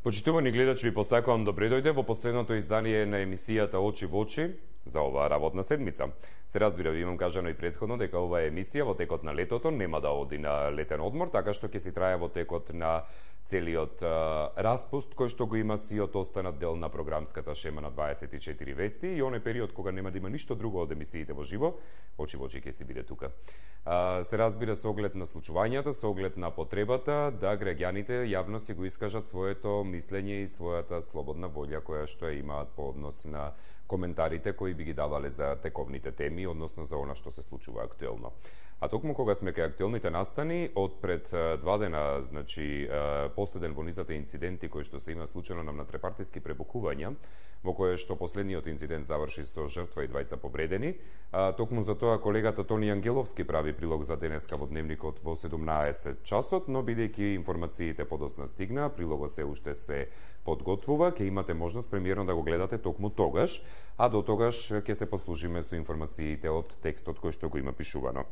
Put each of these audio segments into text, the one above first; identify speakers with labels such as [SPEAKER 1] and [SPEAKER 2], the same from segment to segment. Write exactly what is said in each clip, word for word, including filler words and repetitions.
[SPEAKER 1] Почитувани гледачи, ви посакувам добре дојде во последното издание на емисијата Очи во очи за оваа работна седмица. Се разбира, ви имам кажано и претходно дека оваа емисија во текот на летото нема да оди на летен одмор, така што ќе си трае во текот на целиот а, распуст кој што го има сиот останат дел на програмската шема на дваесет и четири вести и оној период кога нема да има ништо друго од емисиите во живо, Очи во очи ќе си биде тука. А, се разбира со оглед на случувањата, со оглед на потребата да граѓаните јавно си го искажат своето мислење и својата слободна волја која што ја имаат по однос на коментарите кои би ги давале за тековните теми, односно за она што се случува актуелно. А токму кога сме кај актуелните настани, од пред два дена, значи, последен во низата инциденти кои што се има случајно на внатрепартиски пребукувања, во кое што последниот инцидент заврши со жртва и двајца повредени, токму за тоа колегата Тони Ангеловски прави прилог за денеска во дневникот во седумнаесет часот, но бидејќи информациите подоцна стигнаа, прилогот се уште се подготвува, ќе имате можност премиерно да го гледате токму тогаш, а до тогаш ќе се послужиме со информациите од текстот кој што го има пишувано.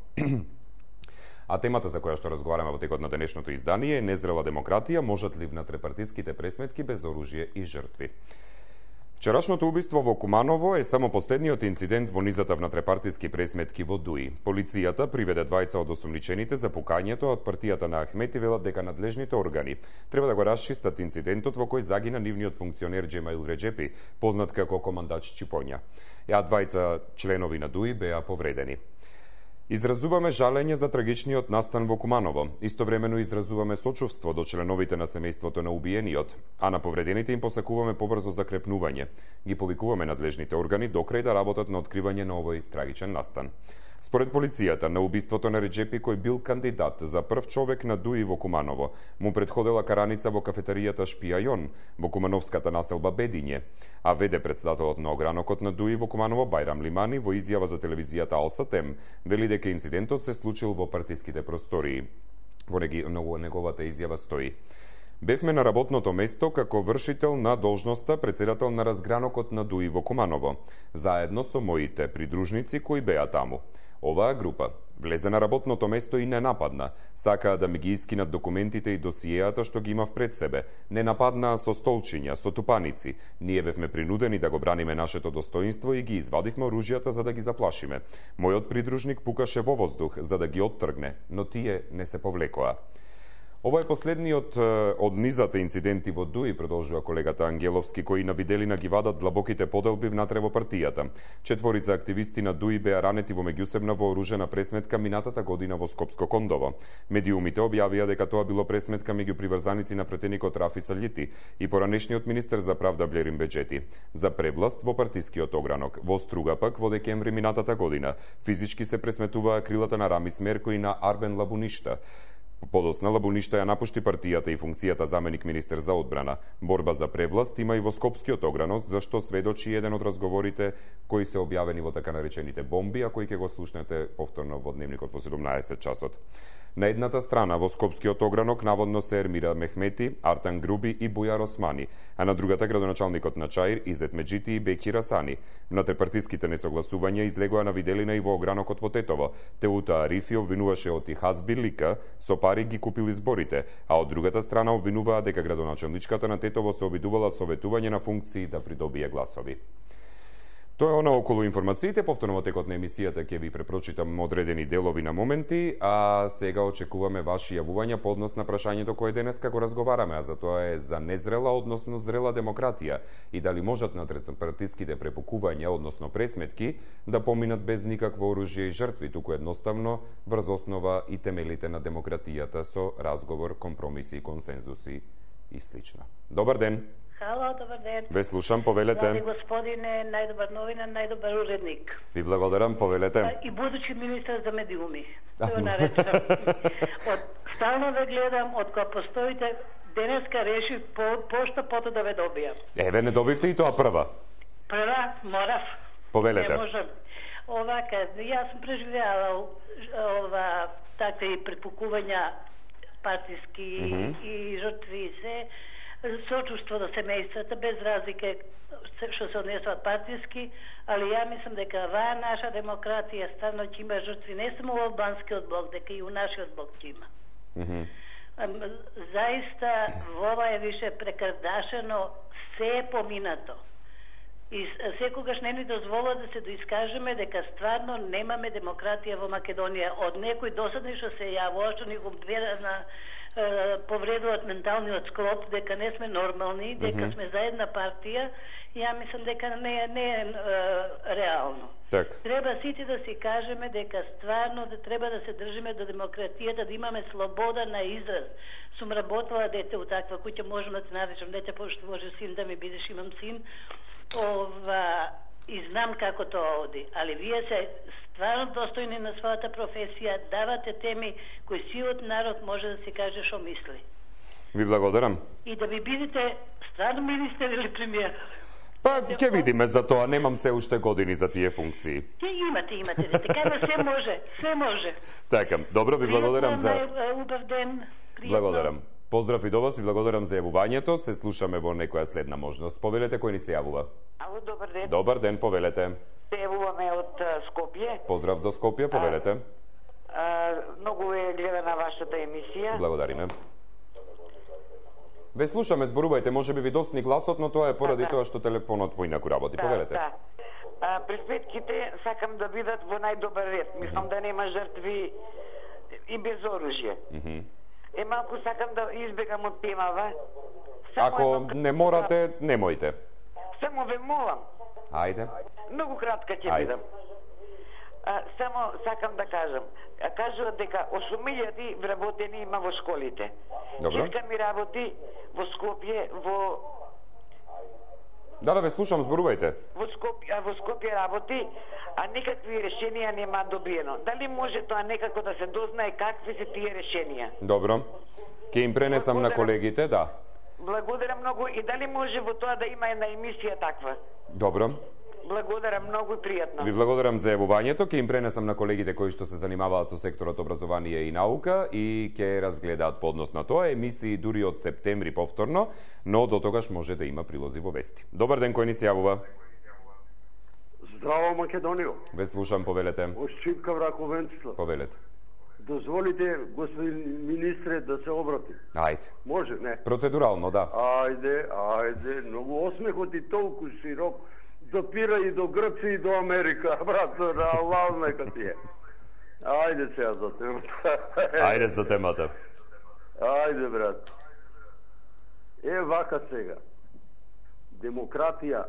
[SPEAKER 1] А темата за која што разговараме во текот на денешното издание е незрела демократија, можат ли внатрепартиските пресметки без оружје и жртви. Вчерашното убиство во Куманово е само последниот инцидент во низата внатрепартиски пресметки во Дуи. Полицијата приведе двајца од осумничените за пукањето од партијата на Ахмети, велат дека надлежните органи треба да го расчистат инцидентот во кој загина нивниот функционер Джемаил Реджепи, познат како командач Чипоња. Ја двајца членови на Дуи беа повредени. Изразуваме жалење за трагичниот настан во Куманово. Истовремено изразуваме сочувство до членовите на семејството на убиениот, а на повредените им посакуваме побрзо закрепнување. Ги повикуваме надлежните органи до крај да работат на откривање на овој трагичен настан. Според полицијата, на убиството на Реджепи, кој бил кандидат за прв човек на Дуи во Куманово, му предходела караница во кафетеријата Шпијајон во кумановската населба Бедиње, а веде председателот на огранокот на Дуи во Куманово Бајрам Лимани во изјава за телевизијата Алсатем вели дека инцидентот се случил во партиските простории. Во неговата изјава стои: Бевме на работното место како вршител на должноста председател на разгранокот на Дуи во Куманово, заедно со моите придружници кои беа таму. Оваа група влезе на работното место и не нападна. Сакаа да ми ги искинат документите и досиеата што ги имав пред себе. Не нападнаа со столчиња, со тупаници. Ние бевме принудени да го браниме нашето достоинство и ги извадивме оружјата за да ги заплашиме. Мојот придружник пукаше во воздух за да ги оттргне, но тие не се повлекоа. Ова е последниот од низата инциденти во Дуи, продолжува колегата Ангеловски, кои на виделина ги вадат длабоките поделби внатре во партијата. Четворица активисти на Дуи беа ранети во меѓусебна вооружена пресметка минатата година во Скопско Кондово. Медиумите објавија дека тоа било пресметка меѓу приврзаници на претеникот Рафи Салјити и поранешниот министер за правда Блерин Беџети за превласт во партискиот огранок. Во Струга пак во декември минатата година физички се пресметуваа крилата на Рамис Мерко и на Арбен Лабуништа. Подосна Лабуништа ја напушти партијата и функцијата заменик министер за одбрана. Борба за превласт има и во Скопскиот огранок, зашто сведочи еден од разговорите кои се објавени во така наречените бомби, а кои ќе го слушнете повторно во дневникот во седумнаесет часот. На едната страна во Скопскиот огранок наводно се Ермира Мехмети, Артан Груби и Бујар Османи, а на другата градоначалникот на Чаир Изет Меджити и Беки Расани. Внатрепартиските несогласувања излегоа на виделина и во огранокот во Тетово. Теута Арифи обвинуваше од Ихазби Лика со пари ги купили зборите, а од другата страна обвинуваа дека градоначалничката на Тетово се обидувала со ветување на функции да придобие гласови. Тоа е она околу информациите, повторно во текот на емисијата ќе ви препрочитам одредени делови на моменти, а сега очекуваме ваши јавувања по однос на прашањето кое денеска го разговараме, а за тоа е за незрела, односно зрела демократија и дали можат внатрепартиските препукувања, односно пресметки, да поминат без никакво оружје и жртви, туку едноставно врз основа и темелите на демократијата со разговор, компромиси и консензуси и слично. Добар ден!
[SPEAKER 2] Хало, добар ден.
[SPEAKER 1] Ве слушам, повелете.
[SPEAKER 2] Драги господине, најдобар новина, најдобар уредник.
[SPEAKER 1] Ви благодарам, повелете.
[SPEAKER 2] И будучи министар за медиуми. Тоа наречам. Од стално ве гледам, од кога постоите, денеска решив по, пошто пото да ве добијам.
[SPEAKER 1] Еве, не добивте и тоа прва.
[SPEAKER 2] Прва, морав.
[SPEAKER 1] Повелете.
[SPEAKER 2] Не можам. Овака, јас сум преживеала ова такви препукувања партиски mm -hmm. и жртви се. Сочувство до семејствата, без разлика што се однесуваат партиски, али ја мислам дека оваа наша демократија ставно ќе има жртви не само во албанскиот блок, дека и у нашиот блок ќе има.
[SPEAKER 1] Mm -hmm.
[SPEAKER 2] Заиста ова е више прекардашено, се е поминато. И секогаш не ни дозволува да се доискажеме дека стварно немаме демократија во Македонија. Од некој досадни што се јавува, што ни го на повредуваат менталниот склоп, дека не сме нормални, дека mm -hmm. сме за една партија, ја мислам дека не, не е е реално.
[SPEAKER 1] Так.
[SPEAKER 2] Треба сите да си кажеме дека стварно да треба да се држиме до демократијата, да имаме слобода на израз. Сум работела дете у таква куќа, можам да те наречам дете, пошто може син да ми бидеш, имам син. Ова, и знам како тоа оди, али вие се стварно достојни на својата професија, давате теми кои сивот народ може да си каже што мисли.
[SPEAKER 1] Ви благодарам.
[SPEAKER 2] И да ви бидете стварно министер или премиер.
[SPEAKER 1] Па, ќе видиме за тоа, немам се уште години за тие функции.
[SPEAKER 2] Ќе имате, имате, така да се може, се може.
[SPEAKER 1] Така, добро, ви благодарам за...
[SPEAKER 2] Убав ден, пријатно.
[SPEAKER 1] Благодарам. Поздрав и до вас и благодарам за јавувањето. Се слушаме во некоја следна можност. Повелете кој ни се јавува.
[SPEAKER 3] Ало, добар ден.
[SPEAKER 1] Добар ден, повелете.
[SPEAKER 3] Се јавуваме од Скопје.
[SPEAKER 1] Поздрав до Скопје, повелете.
[SPEAKER 3] А, а, многу е гледана вашата емисија.
[SPEAKER 1] Благодариме. Ве слушаме, зборувајте, може би ви досни гласот, но тоа е поради
[SPEAKER 3] да,
[SPEAKER 1] тоа што телефонот поинаку работи.
[SPEAKER 3] Да,
[SPEAKER 1] повелете.
[SPEAKER 3] Да. А, пресветките сакам да бидат во најдобар ред. Мислам mm -hmm. да нема жртви и без оружје. Mm -hmm. Е, малку сакам да избегам од темава.
[SPEAKER 1] Само Ако едно... не морате, немојте.
[SPEAKER 3] Само ве молам.
[SPEAKER 1] Ајде.
[SPEAKER 3] Многу кратка ќе бидам. А, само сакам да кажам. Кажуваат дека осум илјади вработени има во школите.
[SPEAKER 1] Добро.
[SPEAKER 3] Чичка ми работи во Скопје, во...
[SPEAKER 1] Да, да, ве слушам, зборувајте.
[SPEAKER 3] Во Скопје, во Скопје работи, а никакви решенија нема добиено. Дали може тоа некако да се дознае какви се тие решенија?
[SPEAKER 1] Добро. Ќе им пренесам Благодарам. на колегите, да.
[SPEAKER 3] Благодарам многу и дали може во тоа да има една емисија таква?
[SPEAKER 1] Добро.
[SPEAKER 3] Благодарам многу и пријатно.
[SPEAKER 1] Ви благодарам за јавувањето, ќе им пренесам на колегите кои што се занимаваат со секторот образование и наука и ќе разгледаат поднос на тоа емисии дури од септември повторно, но до тогаш може да има прилози во вести. Добар ден, кој ни се јавува?
[SPEAKER 4] Здраво, Македонијо.
[SPEAKER 1] Ве слушам, повелете.
[SPEAKER 4] Од Шипка Враковенцство.
[SPEAKER 1] Повелете.
[SPEAKER 4] Дозволите, господин министре, да се обрати.
[SPEAKER 1] Ајде.
[SPEAKER 4] Може, не?
[SPEAKER 1] Процедурално, да.
[SPEAKER 4] Ајде, ајде, многу осмехот и толку широк, допира и до Грција и до Америка, брат, Аллах нека ти е. Ајде сега за темата.
[SPEAKER 1] Ајде за темата.
[SPEAKER 4] Ајде, брат. Е, вака сега. Демократија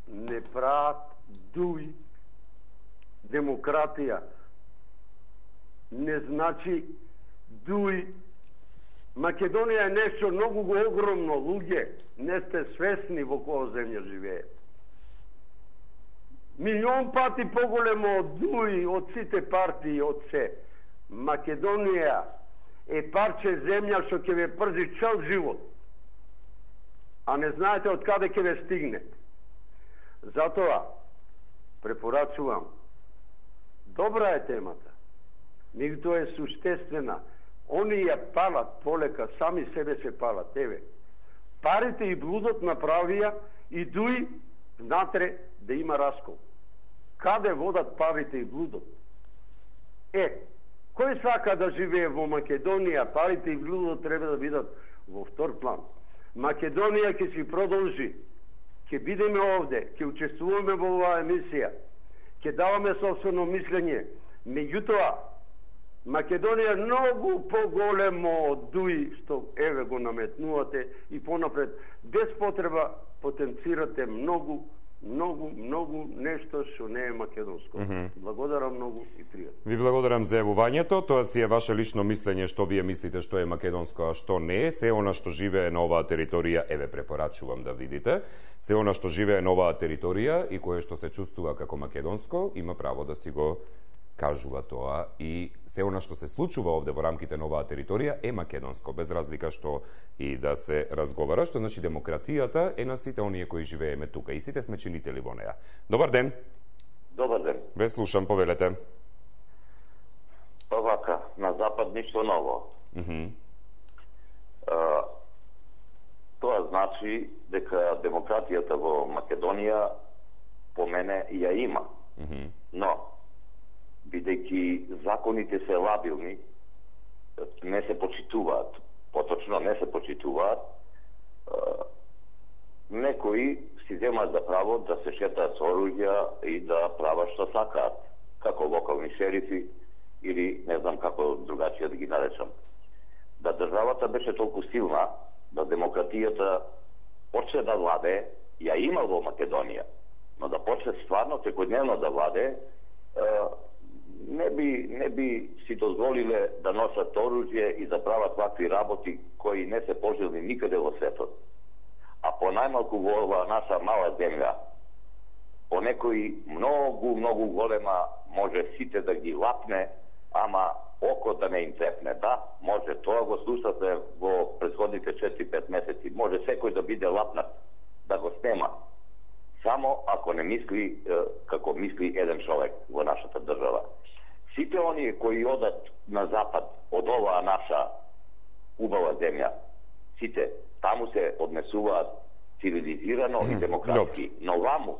[SPEAKER 4] не прават дуи. Демократија не значи дуи. Македонија е нешто многу огромно, луѓе. Не сте свесни во која земја живее. Милион пати поголемо од дуи, од сите партии, од се. Македонија е парче земја што ќе ве прзи цел живот. А не знаете од каде ќе ве стигне. Затоа препорачувам. Добра е темата. Меѓутоа е суштествена. Они ја палат полека, сами себе се палат. Еве, парите и блудот направија и дуи внатре да има раскол. Каде водат парите и блудот? Е, кој сака да живее во Македонија, парите и блудот треба да бидат во втор план. Македонија ќе си продолжи. Ќе бидеме овде, ќе учествуваме во оваа емисија, ќе даваме собствено мислење. Меѓутоа, Македонија е многу поголемо од дуи што еве го наметнувате и понапред без потреба потенцирате многу многу, многу нешто што не е македонско. Mm -hmm. Благодарам многу и пријатно.
[SPEAKER 1] Ви благодарам за јавувањето. Тоа си е ваше лично мислење што вие мислите што е македонско, а што не е. Се она што живее на оваа територија, еве препорачувам да видите, се она што живее на оваа територија и кое што се чувствува како македонско, има право да си го кажува тоа и се она што се случува овде во рамките на оваа територија е македонско, без разлика што и да се разговара, што значи демократијата е на сите оние кои живееме тука и сите сме чинители во неа. Добар ден.
[SPEAKER 5] Добар ден.
[SPEAKER 1] Ве слушам, повелете.
[SPEAKER 5] Овака, на запад ништо ново.
[SPEAKER 1] Mm -hmm.
[SPEAKER 5] а, тоа значи дека демократијата во Македонија по мене ја има.
[SPEAKER 1] Mm -hmm.
[SPEAKER 5] Но бидејќи законите се лабилни, не се почитуваат. поточно не се почитуваат, некои си земаат за право да се шетаат со оружја и да прават што сакаат, како локални шерифи или не знам како другачија да ги наречам. Да државата беше толку силна, да демократијата почне да владе, ја има во Македонија, но да почне стварно секојдневно да владе, не би, не би си дозволиле да носат оружје и да прават вакви работи кои не се пожелни никаде во светот. А по најмалку во оваа наша мала земја, по некои многу, многу голема, може сите да ги лапне, ама око да не им цепне. Да, може, тоа го слушате во претходните четири-пет месеци. Може секој да биде лапнат, да го снема. Само ако не мисли како мисли еден човек во нашата држава. Сите оние кои одат на запад од оваа наша убава земја, сите таму се однесуваат цивилизирано и демократски. Но ваму,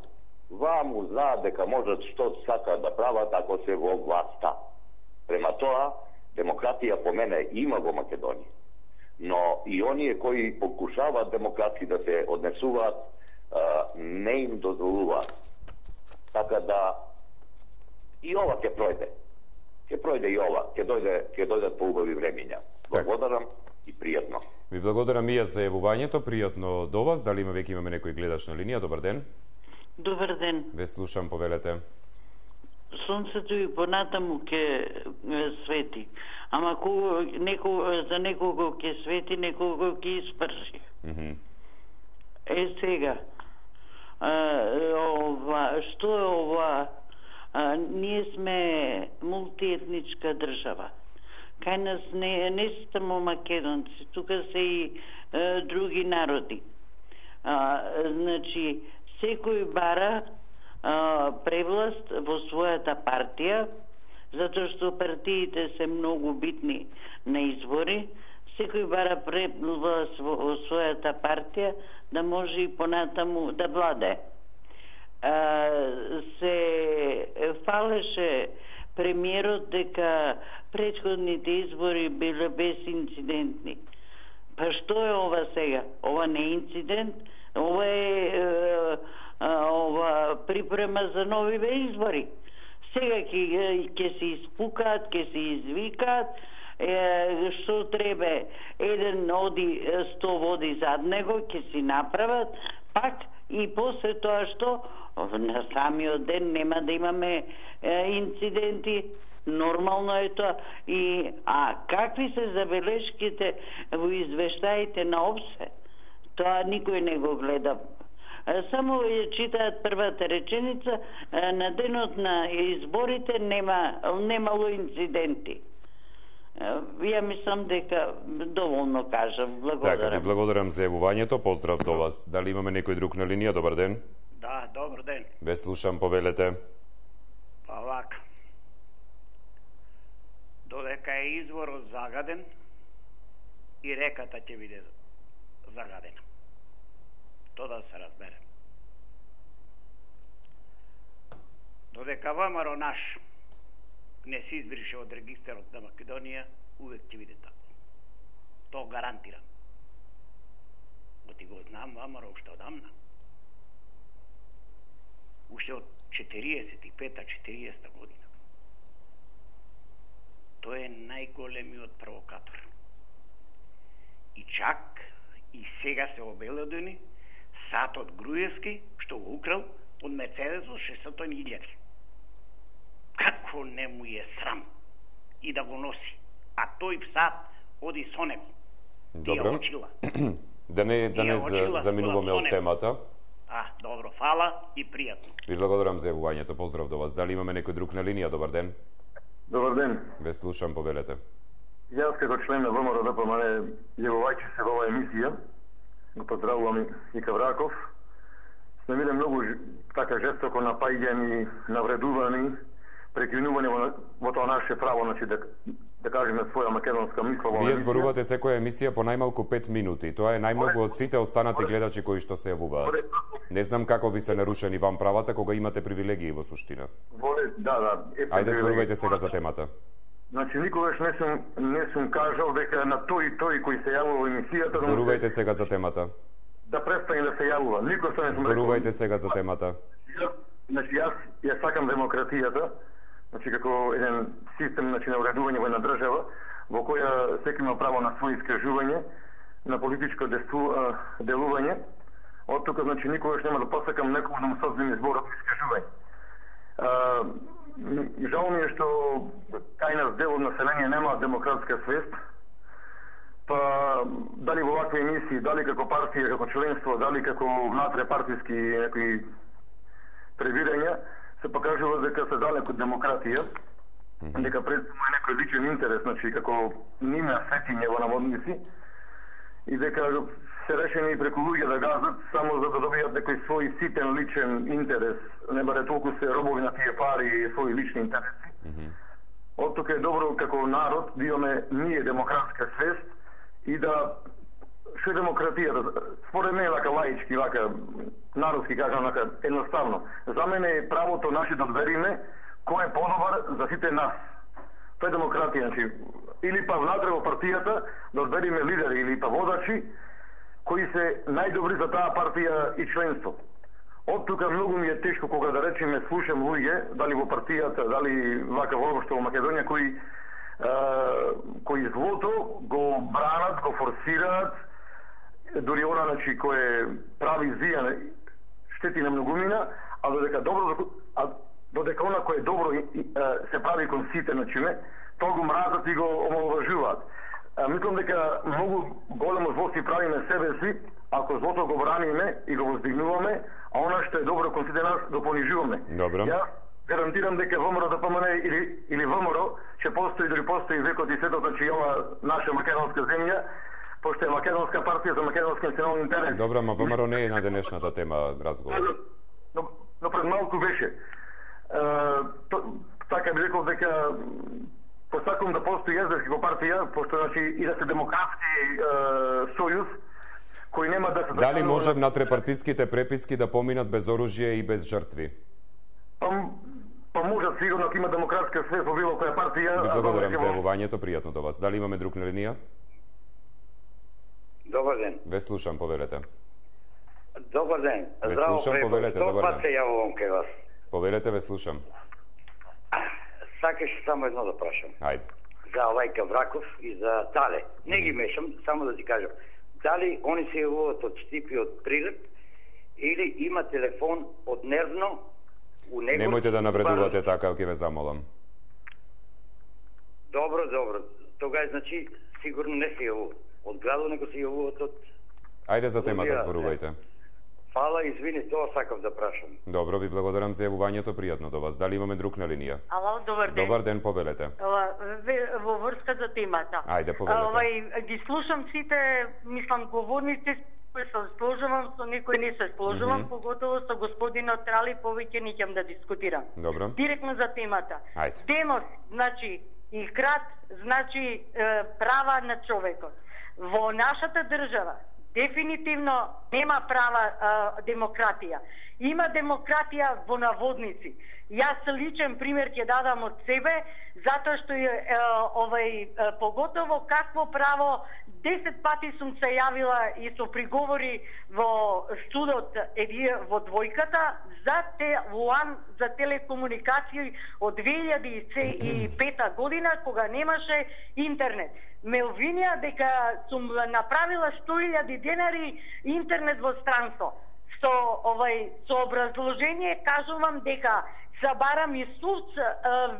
[SPEAKER 5] ваму знаат дека можат што сакаат да прават ако се во власта. Према тоа, демократија по мене има во Македонија. Но и оние кои покушаваат демократски да се однесуваат, не им дозволуваат. Така да и ова ќе пројде. Ќе пројде и ова, ќе дојде, ќе дојдат поубави времиња. Благодарам и пријатно.
[SPEAKER 1] Ви благодарам и јас за јавувањето, пријатно до вас. Дали има веќе имаме некој гледач на линија? Добар ден.
[SPEAKER 6] Добар ден.
[SPEAKER 1] Ве слушам, повелете.
[SPEAKER 6] Сонцето и понатаму ќе свети. Ама кого, некого, за некого ќе свети, некого ќе испрши. Mm -hmm. Е сега, а, ова, што е ова? А, ние сме мултиетничка држава. Кај нас не, не само македонци, тука се и а, други народи. А, значи, секој бара а, превласт во својата партија, затоа што партиите се многу битни на избори. Секој бара превласт во, во својата партија да може и понатаму да владе. А, се фалеше премиерот дека претходните избори биле безинцидентни. Па што е ова сега? Ова не е инцидент, ова е, е, е ова припрема за нови избори. Сега ќе ќе се испукаат, ќе се извикаат, е, што треба, еден оди сто води зад него, ќе си направат, пак и после тоа што на самиот ден нема да имаме е, инциденти, нормално е тоа. И, а какви се забелешките во извештаите на ОПСЕ? Тоа никој не го гледа. Само ја читаат првата реченица, на денот на изборите нема, немало инциденти. Ја мислам дека доволно кажам. Благодарам.
[SPEAKER 1] Така, ви благодарам за јавувањето. Поздрав до вас. Дали имаме некој друг на линија? Добар ден.
[SPEAKER 7] Да, добар ден.
[SPEAKER 1] Ве слушам, повелете.
[SPEAKER 7] Па вака. Додека е изворот загаден, и реката ќе биде загадена. Тоа да се разбере. Додека ВМРО наш не се избрише од регистарот на Македонија, увек ќе биде така. Тоа гарантирам. Го ти го знам ВМРО уште одамна. Уште од четириесет и пета четириесета година. Тој е најголемиот провокатор. И чак и сега се обеледени сатот Груевски, што го украл од Мерцедес од шестстотини илјади. Како не му е срам и да го носи, а тој сат оди со него.
[SPEAKER 1] Добро. Да не, да не за, заминуваме од темата.
[SPEAKER 7] А, добро, фала и пријатно.
[SPEAKER 1] Ви благодарам за јавувањето, поздрав до вас. Дали имаме некој друг на линија? Добар ден.
[SPEAKER 8] Добар ден.
[SPEAKER 1] Ве слушам, повелете.
[SPEAKER 8] Јас како член на ВМРО ДПМН јавувајќи се во оваа емисија, го поздравувам и Кавраков. Сме биле многу така жестоко напаѓани, навредувани, прекинувани во, во тоа наше право, значи да, да кажеме своја македонска мисла.
[SPEAKER 1] Вие зборувате секоја емисија по најмалку пет минути. Тоа е најмногу од сите останати гледачи кои што се јавуваат. Не знам како ви се нарушени вам правата кога имате привилегии во суштина.
[SPEAKER 8] Воле, да, да.
[SPEAKER 1] Ајде зборувајте сега за темата.
[SPEAKER 8] Значи, никогаш не сум, не сум кажал дека на тој и тој кој се јавува во емисијата...
[SPEAKER 1] Зборувајте сега за темата.
[SPEAKER 8] Да престане да се јавува. Никој се не сум
[SPEAKER 1] Зборувајте сега за темата.
[SPEAKER 8] Значи, јас ја сакам демократијата, значи, како еден систем, значи, на уредување во една држава, во која секој има право на своје искажување, на политичко делување. Од тука, значи, никогаш нема да посакам некој да му создадем изборот искажување. Жал ми е што кај нас дел од население нема демократска свест, па дали во вакви емисии, дали како партија, како членство, дали како внатре партиски некои пребирања, се покажува дека се далеко од демократија, mm-hmm. дека представува е некој личен интерес, значи како нима светиње во наводници, и дека се решени преку луѓе да газат само за да добијат некој свој ситен личен интерес, не баре толку се робови на тие пари и своји лични интереси. Mm-hmm. Од тука е добро како народ да имаме ние демократска свест и да што е демократијата. Според мене лака лаички, лака народски кажам, лака едноставно. За мене е правото наши да одбериме кој е подобар за сите нас. Тоа е демократија, значи или па внатре во партијата да одбериме лидери или па водачи кои се најдобри за таа партија и членство. Од тука многу ми е тешко кога да речеме слушам луѓе, дали во партијата, дали вака воопшто во Македонија, кои е, кои злото го бранат, го форсираат, дури она, значи, кој прави зија, штети на многумина, а додека добро, а додека она кој е добро се прави кон сите, значи, тоа го мразат и го омаловажуваат. Мислам дека многу големо зло си правиме себе си, ако злото го браниме и го воздигнуваме, а она што е добро кон сите нас го понижуваме.
[SPEAKER 1] Добро.
[SPEAKER 8] Ја гарантирам дека ВМРО да помане или или ВМРО ќе постои, дали постои векот и светот, значи ова наша македонска земја, пошто е македонска партија за македонски национални интерес.
[SPEAKER 1] Добро, ама ВМРО не е на денешната тема разговор.
[SPEAKER 8] Но, но пред малку беше. Е, то, така би рекол дека посакам да постои езерски го партија, пошто значи и да се демократски е, сојуз, кој нема да се...
[SPEAKER 1] Дали може внатре партиските преписки да поминат без оружје и без жртви?
[SPEAKER 8] Па, па може, сигурно, ако има демократска свест во било која партија...
[SPEAKER 1] Ви благодарам за јавувањето, пријатно до вас. Дали имаме друг на линија?
[SPEAKER 9] Добар ден.
[SPEAKER 1] Ве слушам, повелете.
[SPEAKER 9] Добар ден.
[SPEAKER 1] Ве
[SPEAKER 9] Здраво,
[SPEAKER 1] слушам, повелете, добар
[SPEAKER 9] ден.
[SPEAKER 1] ден.
[SPEAKER 9] Се јавувам кај вас.
[SPEAKER 1] Повелете, ве слушам.
[SPEAKER 9] Сакаш само едно да прашам.
[SPEAKER 1] Ајде.
[SPEAKER 9] За овај Кавраков и за Тале. Не ги мешам, само да ти кажам. Дали они се јавуваат од Штипи, од Прилеп, или има телефон од Нервно у него...
[SPEAKER 1] Немојте да навредувате така, ќе ве замолам.
[SPEAKER 9] Добро, добро. Тогаш, значи, сигурно не се јавуваат од градот, него се јавуваат од...
[SPEAKER 1] Ајде за темата зборувајте.
[SPEAKER 9] Фала, извини, тоа сакав да прашам.
[SPEAKER 1] Добро, ви благодарам за јавувањето, пријатно до вас. Дали имаме друг на линија?
[SPEAKER 2] Ало, добар ден.
[SPEAKER 1] Добар ден, повелете.
[SPEAKER 2] Ова, во врска за темата.
[SPEAKER 1] Ајде, повелете.
[SPEAKER 2] Овај, ги слушам сите, мислам, говорници, кои се сложувам, со некој не се сложувам, mm -hmm. поготово со господинот Трали, повеќе не ќе да дискутирам.
[SPEAKER 1] Добро.
[SPEAKER 2] Директно за темата.
[SPEAKER 1] Ајде.
[SPEAKER 2] Демос, значи, и крат, значи, е, права на човекот. Во нашата држава, дефинитивно нема права а, демократија. Има демократија во наводници. Јас личен пример ќе дадам од себе, затоа што е, е, овај, е, поготово какво право десет пати сум се јавила и со приговори во судот е, во двојката за те УАН за телекомуникации од две илјади и пета година кога немаше интернет. Ме обвинија дека сум направила сто илјади денари интернет во странство. Со овај со образложение кажувам дека забарам и суд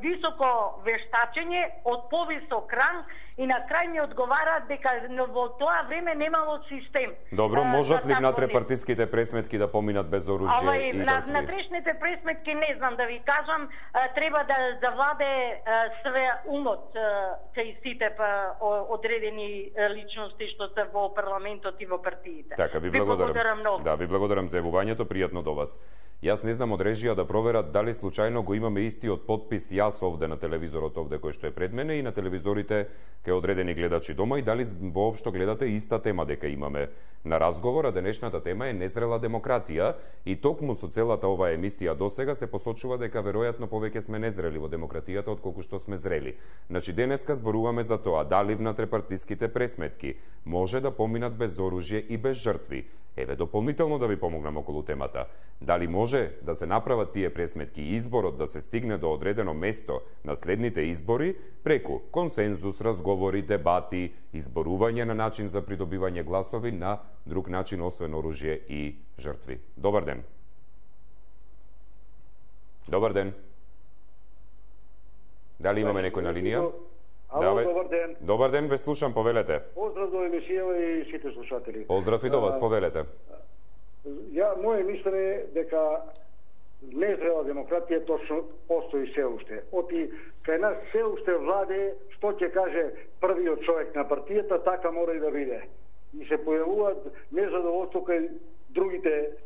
[SPEAKER 2] високо вештачење од повисок ранг и на крај ми одговара дека во тоа време немало систем.
[SPEAKER 1] Добро, можат ли внатре партиските пресметки да поминат без оружје
[SPEAKER 2] Овај,
[SPEAKER 1] и
[SPEAKER 2] на,
[SPEAKER 1] жртви?
[SPEAKER 2] на трешните пресметки не знам да ви кажам, треба да завладе све умот кај сите одредени личности што се во парламентот и во партиите.
[SPEAKER 1] Така, ви благодарам.
[SPEAKER 2] Ви благодарам многу.
[SPEAKER 1] Да, ви благодарам за јавувањето, пријатно до вас. Јас не знам од режија да проверат дали случајно го имаме истиот подпис јас овде на телевизорот овде кој што е пред мене и на телевизорите кај одредени гледачи дома и дали воопшто гледате иста тема дека имаме на разговор, а денешната тема е незрела демократија и токму со целата оваа емисија досега се посочува дека веројатно повеќе сме незрели во демократијата отколку што сме зрели. Значи денеска зборуваме за тоа дали внатре-партиските пресметки може да поминат без оружје и без жртви. Еве дополнително да ви помогнам околу темата. Дали може да се направат тие пресметки и изборот да се стигне до одредено место на следните избори преку консензус, разговори, дебати, изборување на начин за придобивање гласови на друг начин освен оружје и жртви. Добар ден. Добар ден. Дали имаме некој на линија?
[SPEAKER 10] Ало, да, добар ден.
[SPEAKER 1] Добар ден, ве слушам, повелете.
[SPEAKER 10] Поздрав до емисија и сите слушатели.
[SPEAKER 1] Поздрав и до вас, повелете.
[SPEAKER 10] Ја, моје мислење е дека незрела демократија точно постои се уште. Оти кај нас се уште владе што ќе каже првиот човек на партијата, така мора и да биде. И се појавуваат незадоволство кај другите,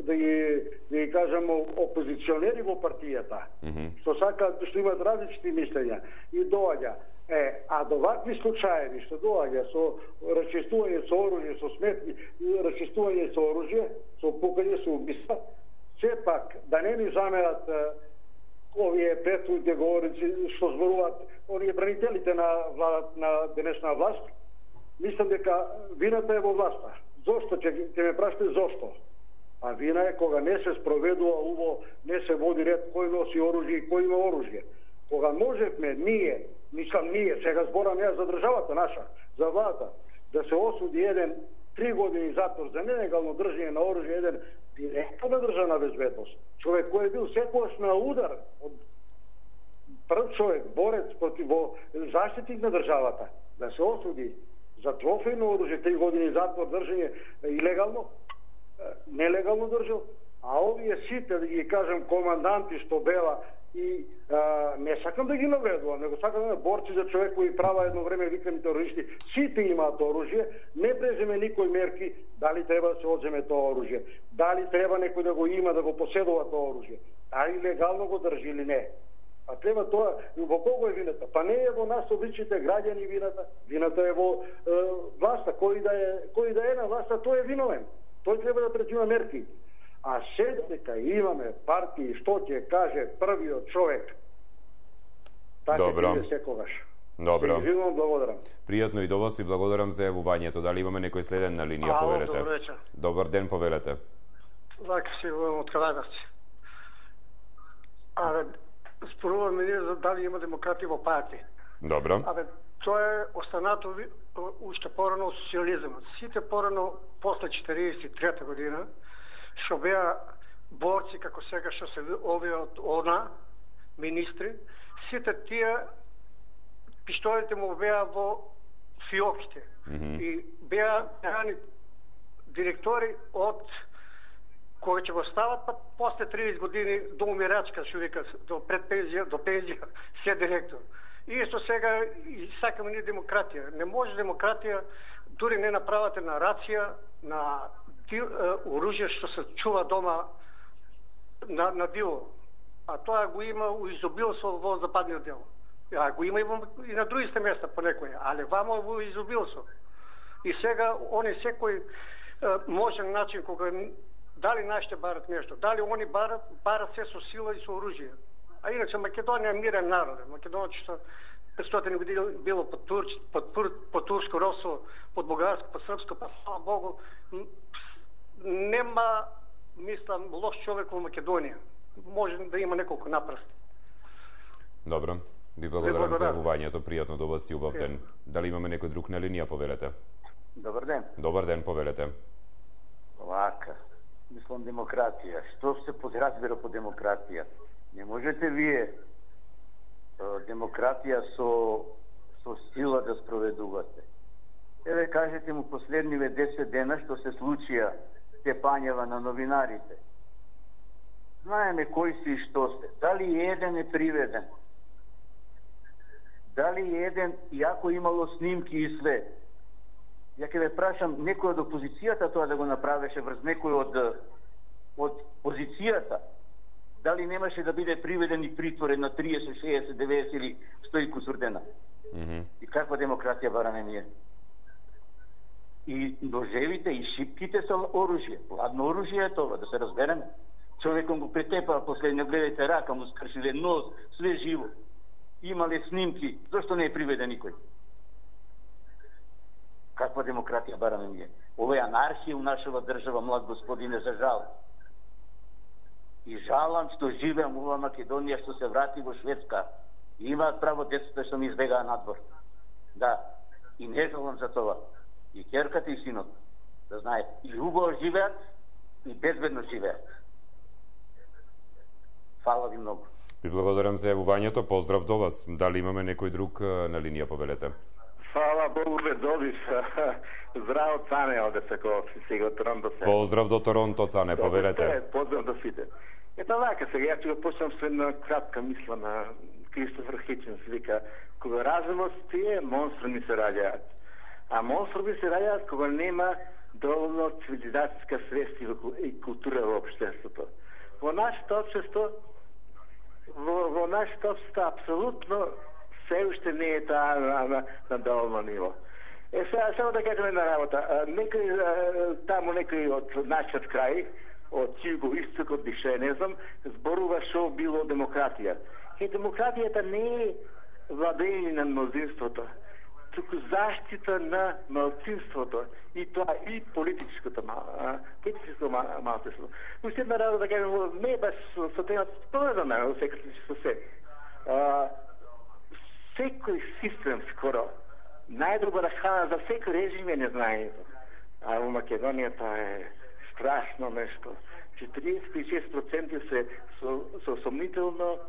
[SPEAKER 10] да ги, да ги кажам, опозиционери во партијата, mm -hmm. што сакаат, што имат различни мислења. И доаѓа. Е, а до вакви случаеви што доаѓа со расчистување со оружје, со сметки, расчистување со оружје, со пукање, со убиства, сепак да не ни замерат е, овие претходните говорници што зборуваат, оние бранителите на, на денешна власт, мислам дека вината е во власта. Зошто ќе ќе ме прашате зошто? А вина е кога не се спроведува уво, не се води ред кој носи оружје и кој има оружје. Кога можевме ние, мислам ние, сега зборам ја за државата наша, за влада, да се осуди еден три години затвор за нелегално држање на оружје, еден директор на државна безбедност, човек кој е бил секогаш на удар од прв човек, борец против заштитник на државата, да се осуди за трофејно оружје, три години затвор држање илегално, нелегално држал, а овие сите, да ги кажам, команданти што бела и а, не сакам да ги навредувам, него сакам да борци за човекови права, едно време викани терористи, сите имаат оружје, не преземе никој мерки дали треба да се одземе тоа оружје, дали треба некој да го има, да го поседува тоа оружје, дали легално го држи или не. А треба тоа, во кого е вината? Па не е во нас обичните граѓани вината, вината е во е, власта, кој да е, кој да е на власта, тој е виновен. Тој треба да предприема мерки. А се дека имаме партии што ќе каже првиот човек, така ќе биде секогаш.
[SPEAKER 1] Добро.
[SPEAKER 10] Живам, благодарам.
[SPEAKER 1] Пријатно и до вас и благодарам за јавувањето. Дали имаме некој следен на линија,
[SPEAKER 11] Ало,
[SPEAKER 1] повелете?
[SPEAKER 11] добро вечер.
[SPEAKER 1] Добар ден, повелете.
[SPEAKER 11] Лака се јавувам од Каладарци. Абе, споруваме ние за дали има демократија во партија.
[SPEAKER 1] Добро.
[SPEAKER 11] Абе, тоа е останато уште порано од социализмот. Сите порано после четириесет и трета година што беа борци како сега што се овие од она министри, сите тие пиштолите му беа во фиоките. Mm -hmm. И беа рани директори од кои ќе го стават, па после тридесет години до умирачка, што вика, до пред пензија, до пензија, се директор. И исто сега и сакаме ние демократија. Не може демократија, дури не направате на рација, на оружје што се чува дома на, на дило. А тоа го има у изобилство во западниот дел. А го има и, во, и на другите места по некој, али вамо во изобилство. И сега они секој можен начин кога дали нашите барат нешто, дали они барат, барат се со сила и со оружје. А иначе Македонија е мирен народ. Македонија петстотини години било под, турч, под, под турско робство, под бугарско, под српско, па слава Богу, нема, мислам, лош човек во Македонија. Може да има неколку напрасти.
[SPEAKER 1] Добро. Ви благодарам за јавувањето. Пријатно до вас и убав ден. Дали имаме некој друг на линија, повелете?
[SPEAKER 12] Добар ден.
[SPEAKER 1] Добар ден, повелете.
[SPEAKER 12] Вака. Мислам демократија. Што се подразбира по демократија? Не можете вие демократија со, со сила да спроведувате. Еве кажете му последниве десет дена што се случија тепањава на новинарите. Знаеме кои си и што се. Дали еден е приведен? Дали еден, иако имало снимки и све? Ја ќе ве прашам, некој од опозицијата тоа да го направеше врз некој од, од позицијата? Дали немаше да биде приведен и притворен на триесет, шеесет, деветдесет или сто и кусур дена? Mm -hmm. И каква демократија бараме ние? И ножевите и шипките со оружје. Ладно оружје е тоа, да се разбереме. Човеком го претепа, последно гледајте рака, му скршиле нос, све живо. Имале снимки, зашто не е приведен никој? Каква демократија бараме ние? Ова е анархија у нашава држава, млад господине, за жал. И жалам што живеам ова Македонија, што се врати во Шведска. И имаат право децата што ми избегаа надвор. Да, и не жалам за тоа. И ќерката и синот, да знаат, и убаво живеат, и безбедно живеат. Фала ви многу.
[SPEAKER 1] Ви благодарам за јавувањето, поздрав до вас. Дали имаме некој друг на линија, повелете?
[SPEAKER 13] Фала Богу, бе, добиш. Здраво, Цане, оде се ко сега од Торонто.
[SPEAKER 1] Поздрав до Торонто, Цане, повелете.
[SPEAKER 13] Поздрав до сите. Ето вака, сега ја ќе го почнам со една кратка мисла на Кристофер Хичинс, вика, кога разумот тие, монструми се раѓаат. А монструми се раѓаат кога нема доволно цивилизацијска свест и култура во општеството. Во нашето општество, во, во нашето општество, апсолутно се уште не е таа на, на, на доволно ниво. Е, сега, само да кажем една работа. Некој, таму некој од нашиот крај, од југо-истокот, дише, не знам, зборува шо било демократија. Е, демократијата не е владење на мнозинството, туку заштита на малцинството, и тоа и политичкото политичкото малцинство. Уште една работа да кажем, не баш со темата повезана, во секој случај со се. Секој систем скоро, најдобра храна за секој режим е незнанието. А во Македонија тоа е страшно нешто. четириесет и шест проценти се со, со сомнително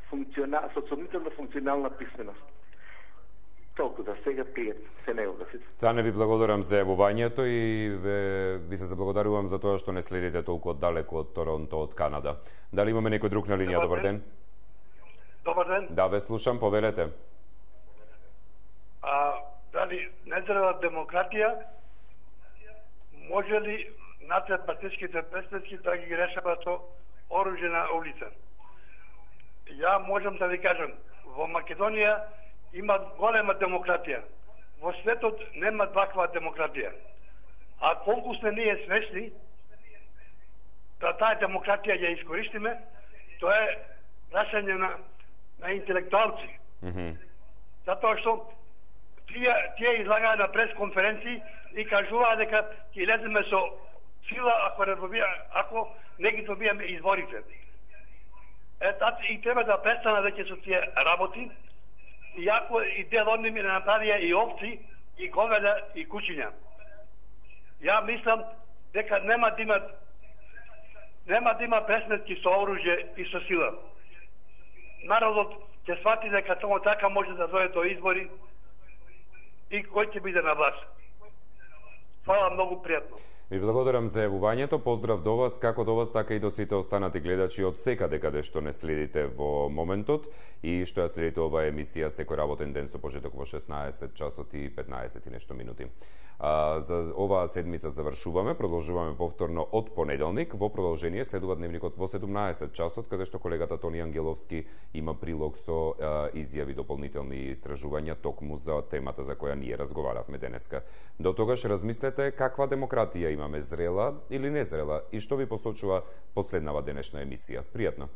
[SPEAKER 13] функционал, со сомнително функционална писменост. Толку за сега пријат се не да сите.
[SPEAKER 1] Цане, ви благодарам за јавувањето и ве, ви се заблагодарувам за тоа што не следите толку оддалеку од Торонто, од Канада. Дали имаме некој друг на линија? Добар ден.
[SPEAKER 14] Добар ден.
[SPEAKER 1] Да, ве слушам, повелете.
[SPEAKER 14] А, дали незрела демократија може ли надпартиските представници да ги решават со оружје на улица? Ја можам да ви кажам, во Македонија има голема демократија. Во светот нема таква демократија. А колку сме ние свесни да таа демократија ја искористиме, тоа е прашање на, на интелектуалци.
[SPEAKER 1] Mm -hmm.
[SPEAKER 14] Затоа што тие, тие излагаа на пресконференции и кажуваа дека ќе леземе со сила ако не добија, ако не ги добиеме изборите. Е, тати, и треба да престана веќе со тие работи, иако и дел од ними направија и овци, и говеда, и кучиња. Ја мислам дека нема да имат нема да има пресметки со оружје и со сила. Народот ќе свати дека само така може да дојде до избори и кој ќе биде на власт. Фала, многу пријатно.
[SPEAKER 1] Ви благодарам за јавувањето, поздрав до вас, како до вас, така и до сите останати гледачи од секаде каде што не следите во моментот и што ја следите оваа емисија секој работен ден со почеток во шеснаесет часот и петнаесет и нешто минути. А, за оваа седмица завршуваме, продолжуваме повторно од понеделник, во продолжение следува дневникот во седумнаесет часот, каде што колегата Тони Ангеловски има прилог со а, изјави, дополнителни истражувања токму за темата за која ние разговаравме денеска. До тогаш размислете каква демократија имаме, зрела или незрела, и што ви посочува последнава денешна емисија. Пријатно!